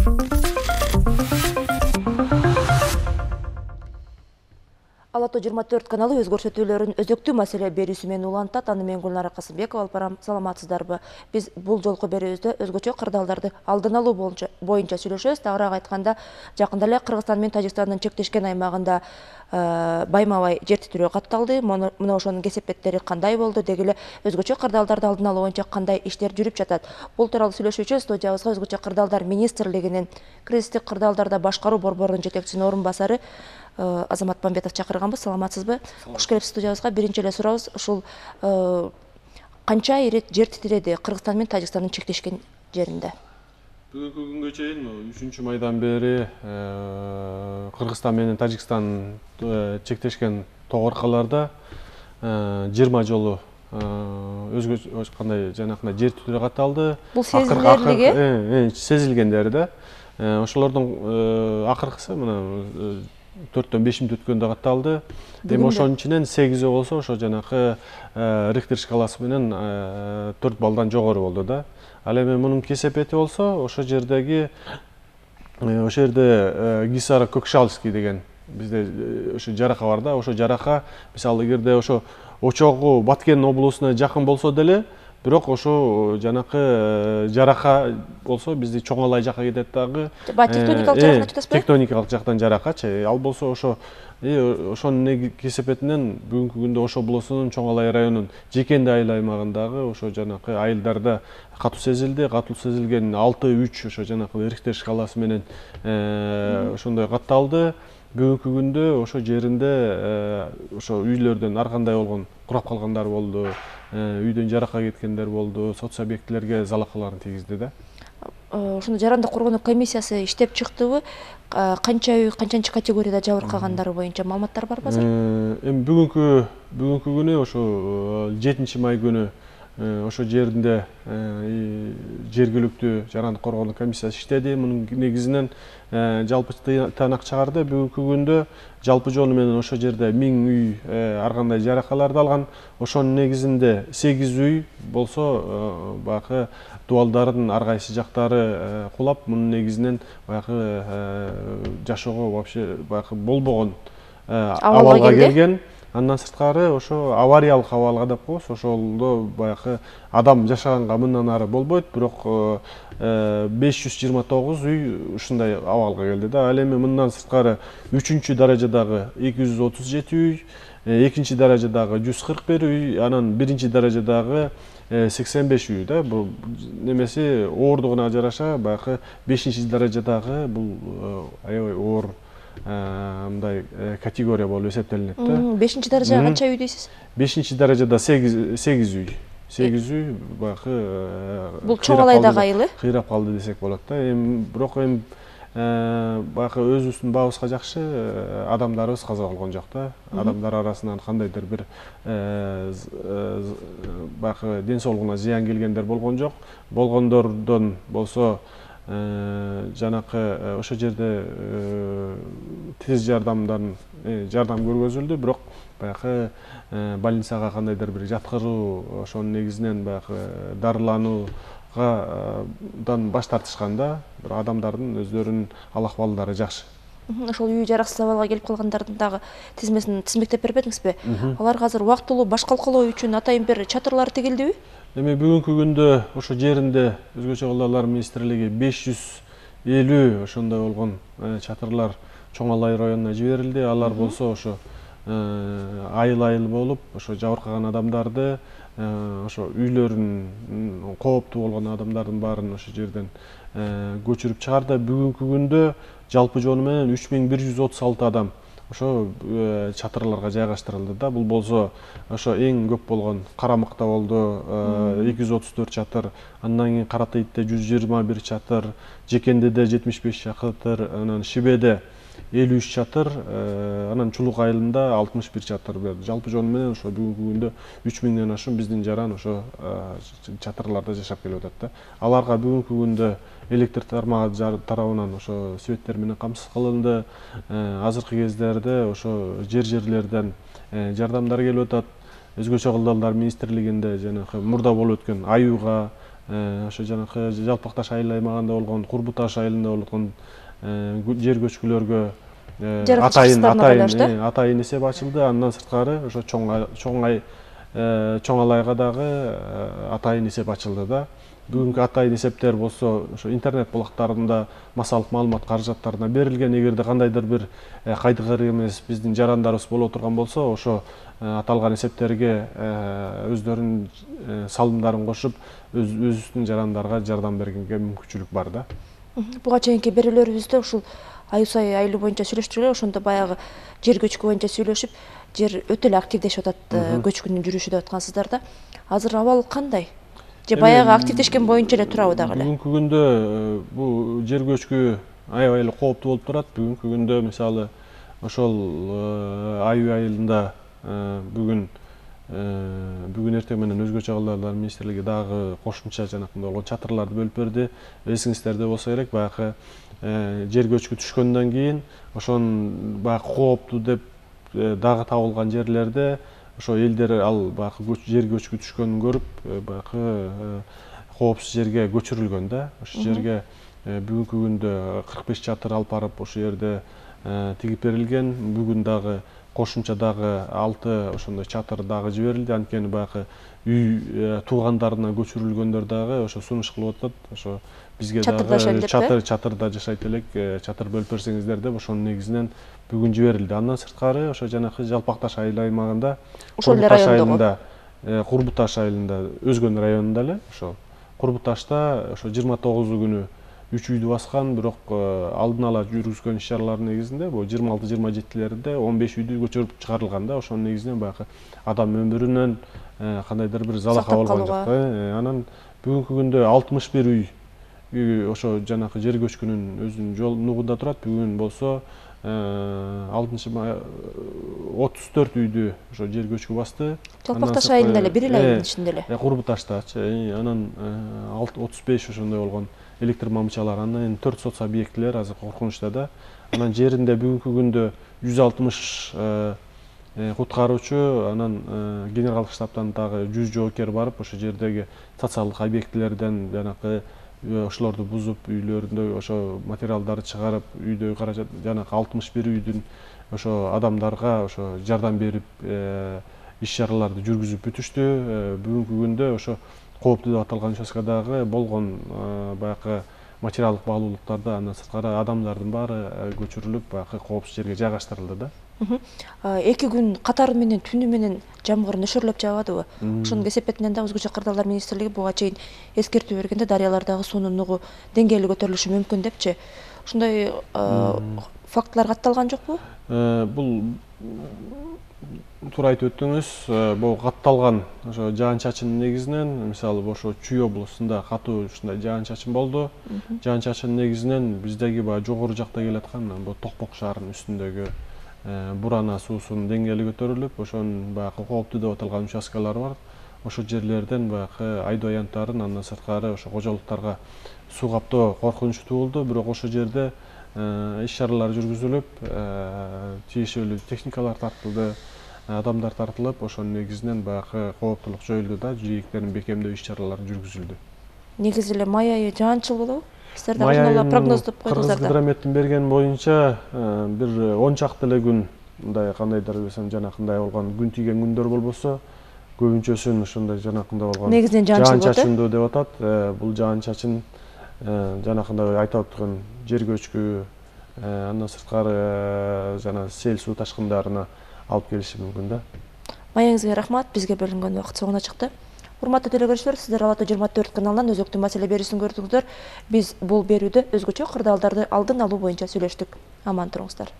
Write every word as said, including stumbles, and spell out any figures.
Ала тоо жыйырма төрт каналы өз көрсөтүүлөрүн өзөктүү маселе берүүсү менен улантат. Аны мен Гүлнара Касымбекова алып барам. Саламатсыздарбы? Биз бул жолку берүүбүздө өзгөчө кырдаалдарды алдын алуу боюнча сүйлөшөбүз. Тагыраак айтканда, жакында эле Кыргызстан менен Тажикстандын чектешкен аймагында байма-бай жер титирөө катталды. Мына ошонун кесепеттери кандай болду? Деги эле өзгөчө кырдаалдарды алдын алуу боюнча кандай иштер жүрүп жатат? Бул тууралуу сүйлөшүү үчүн студиябызга өзгөчө кырдаалдар министрлигинин кризистик кырдаалдарда башкаруу борборунун жетекчисинин орун басары Азамат Мамбетов чакырганбыз. Саламатсызбы? Куш келипсиз студиябызга. Биринчи эле сурообуз, ушул канча ирет жер титиреди Кыргызстан менен Тажикстандын чектешкен жеринде? Бүгүнкү күнгө чейин үчүнчү майдан бери Кыргызстан менен Тажикстан чектешкен тогоркаларда жыйырма жолу өзгөчө кандай жанакындай жер титирөө катталды. Бул сезилерлиги? Сезилгендери да. Ошолордун акыркысы мына төрттөн беш мүнөт өткөндө катталды. Эми ошонун ичинен сегизи болсо ошо жанакы Рихтер шкаласы менен төрт балдан жогору болду да. Ал эми мунун кесепети болсо ошо жердеги ошол жерде Гисара Көкшалский деген бизде ошо жарака бар да. Ошо жарака мисалы эгерде ошо очогу Баткен облусуна жакын болсо деле, бирок ошо жанакы жарака болсо бизди Чоңалай жака кетет дагы. Тектоникалык жактан айтасызбы? Тектоникалык жактан жаракачы. Ал болсо ошо ошонун кесепетинен бүгүнкү күндө ошо облусунун Чоңалай районунун Жекенди айыл аймагындагы ошо жанакы айылдарда катуу сезилди. Катуу сезилген алты үч ошо жанакы Рихтер шкаласы менен ошондой катталды. Бүгүнкү күндө ошо жеринде ошо үйлөрдөн ар кандай болгон курап калгандар болду, үйдөн жарака кеткендер болду, соц объектилерге залакаларын тийгизди да. Ошондо жарандык коргонуу комиссиясы иштеп чыктыбы? Канча үй, канчанчы категорияда жабыркагандары боюнча маалыматтар барбы азыр? Эми бүгүнкү бүгүнкү күнү ошо жетинчи май күнү ошо жеринде жергиликтүү жарандык коргонуу комиссиясы иштеди. Мунун негизинен жалпы тыянак чыгарды. Бүгүнкү күндө жалпы жону менен ошо жерде миң үй ар кандай жаракаларды алган. Ошонун негизинде сегиз үй болсо баягы дубалдардын ар кайсы жактары кулап, мунун негизинен баягы жашоого вообще баягы болбогон абалга келген. Андан сырткары ошо авариялык абалга деп коебуз. Ошолдо баягы адам жашаганга мындан ары болбойт, бирок беш жүз жыйырма тогуз үй ушундай абалга келди да. Ал эми мындан сырткары үчүнчү даражадагы эки жүз отуз жети үй, экинчи даражадагы жүз кырк бир үй, анан биринчи даражадагы сексен беш үй да. Бул немеси оордугуна жараша баягы бешинчи даражадагы бул аябай оор мындай категория болуп эсептелинет да. бешинчи даража канча үй дейсиз? бешинчи даражада сегиз үй. сегиз үй баягы бул Чоңалайдагы айылы кыйрап калды десек болот да. Эми бирок эми баягы өзүбүздүн бабыбызга жакшы адамдарыбыз каза болгон жок да. Адамдар арасынан кандайдыр бир баягы ден соолугуна зыян келгендер болгон жок. Болгондордон болсо жанакы ошол жерде тез жардамдан жардам көргөзүлдү, бирок баягы больницага кандайдыр бир жаткыруу, ошонун негизинен баягы дарылануудан баш тартышканда, бир адамдардын өздөрүнүн ал акыбалдары жакшы. Ошол үй жараксыз абалга келип калгандардын дагы тизмесин тизмектеп бербедиңизби? Аларга азыр убактылуу баш калкалоо үчүн атайын бир чатырлар тигилдиби? Эми бүгүнкү күндө ошо жеринде өзгөчө кырдаалдар министрлиги беш жүз элүү ошондой болгон чатырлар Чоңалай районуна жиберилди. Алар болсо ошо айыл-айыл болуп, ошо жабыркаган адамдарды, ошо үйлөрүн кооптуу болгон адамдардын баарын ошо жерден көчүрүп чыгарды. Бүгүнкү күндө жалпы жону менен үч миң бир жүз отуз алты адам ошо чатырларга жайгаштырылды да. Бул болсо ошо эң көп болгон Карамыкта болду эки жүз отуз төрт чатыр, андан кийин Каратыйтте жүз жыйырма бир чатыр, Жекендиде жетимиш беш чатыр, анан Шибеде элүү үч чатыр, анан Чулук айылында алтымыш бир чатыр берди. Жалпы жону менен ошо бүгүнкү күндө үч миңден ашуун биздин жаран ошо чатырларда жашап келип атат да. Аларга бүгүнкү күндө электр тармагы тарабынан ошо светтер менен камсыз кылынды. Азыркы кездерде ошо жер-жерлерден жардамдар келип атат. Өзгөчө кырдаалдар министрлигинде жанагы мурда болуп өткөн аюуга ошо жанакы Жалпак Таш айыл аймагында болгон, Курбу Таш айылында болгон жер көчкүлөргө атайын атайын атайын эсеп ачылды. Андан сырткары ошо чоң ай чоң алайга дагы атайын эсеп ачылды да. Бүгүнкү атайын эсептер болсо ошо интернет булактарында массалык маалымат каражаттарына берилген. Эгерде кандайдыр бир кайдыгер эмес биздин жарандарыбыз боло турган болсо, ошо аталган эсептерге өздөрүнүн салымдарын кошуп, өзүбүздүн жарандарга жардам бергенге мүмкүнчүлүк бар да. Буга чейинки берүүлөрүбүздө ушул Аюсай айылы боюнча сүйлөштүк эле, ошондо баягы жер көчкү боюнча сүйлөшүп, жер өтө эле активдешип атат, көчкүнүн жүрүшү деп аткансыздар да. Азыр абал кандай? Же баягы активдешкен боюнча эле турабы дагы эле? Бүгүнкү күндө бул жер көчкү аябай эле кооптуу болуп турат. Бүгүнкү күндө мисалы ошол Аюу айылында бүгүн бүгүн эртең менен Өзгөчө кырдаалдар министрлиги дагы кошумча жанакындай болгон чатырларды бөлүп берди. Эсиңиздерде болсо керек, баягы жер көчкү түшкөндөн кийин ошонун баягы кооптуу деп дагы табылган жерлерде ошо элдер ал баягы жер көчкү түшкөнүн көрүп, баягы коопсуз жерге көчүрүлгөн да. Ошол жерге бүгүнкү күндө кырк беш чатыр алып барып ошол жерде тигип берилген. Бүгүн дагы кошумча дагы алты ошондой чатыр дагы жиберилди. Анткени баягы үй туугандарына көчүрүлгөндөр дагы ошо сунуш кылып атат. Ошо бизге дагы чатыр чатырда жашайт элек, чатыр бөлүп берсеңиздер деп ошонун негизинен бүгүн жиберилди. Андан сырткары ошо жанакы Жалпак Таш айыл аймагында, ошол эле райондо, Курбу Таш айылында, Өзгөн районунда эле ошо Курбу Ташта ошо жыйырма тогузу күнү үч үйдү баскан, бирок алдын ала жүргүзгөн иш-чаралардын негизинде бул жыйырма алты жыйырма жетилеринде он беш үйдү көчүрүп чыгарылган да. Ошонун негизинен баягы адам өмүрүнөн кандайдыр бир залака болгон жок. Анан бүгүнкү күндө алтымыш бир үй ошо жанакы жер көчкүнүн өзүнүн жол нугунда турат. Бүгүн болсо алтынчы май отуз төрт үйдү ошо жер көчкү басты. Жалпак Таш айылында эле, бир эле айылдын ичинде эле. Курбу Таштачы, анан отуз беш ошондой болгон электр мамычалар, анан төрт соц объектилер азыр коркунучта да. Анан жеринде бүгүнкү күндө жүз алтымыш куткаруучу, анан генералдык штабтан дагы жүз жоокер барып, ошол жердеги социалдык объектилерден жанакы ошолорду бузуп, үйлөрүндө ошо материалдарды чыгарып, үйдөгү каражат жанакы алтымыш бир үйдүн ошо адамдарга ошо жардам берип, иш-чараларды жүргүзүп бүтүштү. Бүгүнкү күндө ошо кооптуу деп аталган участкадагы болгон баягы материалдык баалуулуктарды, андан сырткары адамдардын баары көчүрүлүп, баягы коопсуз жерге жайгаштырылды да. Эки күн катары менен түнү менен жамгыр нөшөрлөп жаабадыбы? Ошонун кесепетинен да Өзгөчө кырдаалдар министрлиги буга чейин эскертүү бергенде, дарыялардагы суунун нугу деңгээли көтөрүлүшү мүмкүн депчи. Ошондой фактылар катталган жокпу? Бул туура айтып өттүңүз, бул катталган ошо жаан-чачындын негизинен, мисалы ошо Чүй облусунда катуу ушундай жаан-чачын болду. Жаан-чачындын негизинен биздеги баягы жогору жакта келаткан бул Токпок шаарынын үстүндөгү Бурана суусунун деңгээли көтөрүлүп, ошонун баягы кооптуу деп аталган участкалары бар. Ошол жерлерден баягы айдоо аянттарын, андан сырткары ошо кожолуктарга суу каптоо коркунучу туулду. Бирок ошол жерде иш-чаралар жүргүзүлүп, тиешелүү техникалар тартылды, адамдар тартылып, ошонун негизинен баягы кооптулук жоюлду да, жийектерин бекемдөө иш-чаралары жүргүзүлдү. Негизи эле май айы жаанчыл болобу? Сиздер дагы ошондой прогноздоп койдуңуздар да. Кыргызгидрометтин берген боюнча бир он чакты эле күн мындай кандайдыр десем жанакындай болгон күн тийген күндөр болбосо, көбүнчөсүн ошондой жанакындай болгон негизинен жаан-чачындуу деп атат. Бул жаан-чачын жанакындай айтып өткөн жер көчкү, андан сырткары жана сел суу ташкындарына алып келиши мүмкүн да. Маегиңизге рахмат, бизге бөлүнгөн убакыт соңуна чыкты. Урматтуу телекөрүүчүлөр, сиздер Ала Тоо жыйырма төрт каналынан өзөктүү маселе берүүсүн көрдүңүздөр. Биз бул берүүдө өзгөчө кырдаалдарды алдын алуу боюнча сүйлөштүк. Аман туруңуздар.